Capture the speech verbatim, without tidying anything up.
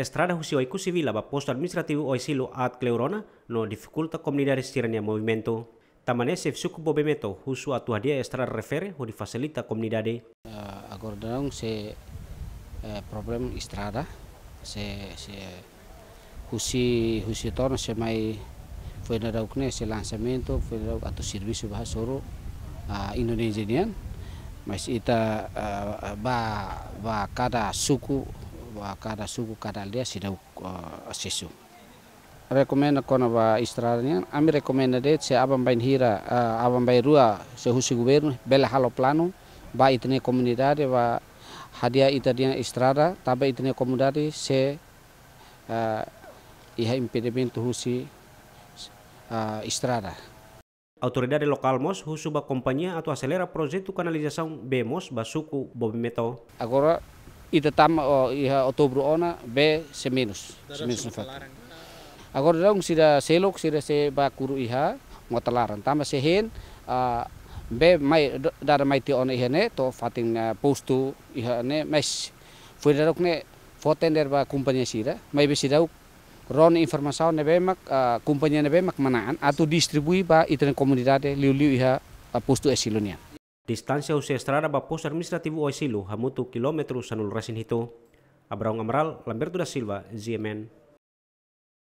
Estrada husi Oekusi Vila ba postu administrativu Oesilo aat kleur ona no difikulta komunidade sira-nia movimentu. Tanba ne'e xefe suku Bobemeto husu atu hadi'a estrada refere hodi fasilita komunidade. Ah, agora daudaun sei, eh, problema estrada, sei, sei husi, husi Oetono sei mai Fuendauk ne'e sei lansamentu, Fuendauk atu servisu ba hasoru, ah, Indonézia nian. Mas ita, ah, ba, ba kada suku, ba kada suku, kada aldeia seidauk, ah, asesu. Rekomenda kona-ba estrada nian, ami rekomenda de'it se aban-bainhira, ah, aban-bainrua se husi governu bele halo planu ba ita-nia komunidade ba hadi'a ita-nia estrada, tanba ita-nia komunidade sei, ah, iha impedimentu husi, ah, estrada. Autoridade lokál mós husu ba kompañia atu aselera projetu kanalizasaun bee moos ba suku Bobemeto. Agora ita tama, oh, iha Outubru ona bee sei menus, sei menus nafatin. Agora daudaun sira seluk, sira sei bá kuru iha mota laran. Tanba sei hein, ah, bee mai, do-, dada mai tiha ona iha ne'e, to'o fatin, ah, postu iha ne'e, mas Fuendauk ne'e fó tender ba kompañia sira, maibé seidauk rona informasaun ne'ebé mak, ah, kompañia ne'ebé mak manán atu distribui ba ita-nia komunidade liuliu iha, ah, postu Oesilo nian. Distánsia husi estrada ba postu administrativu Oesilo hamutuk kilómetru sanulu-resin-hitu. Abraão Amaral, Lamberto da Silva, G M N.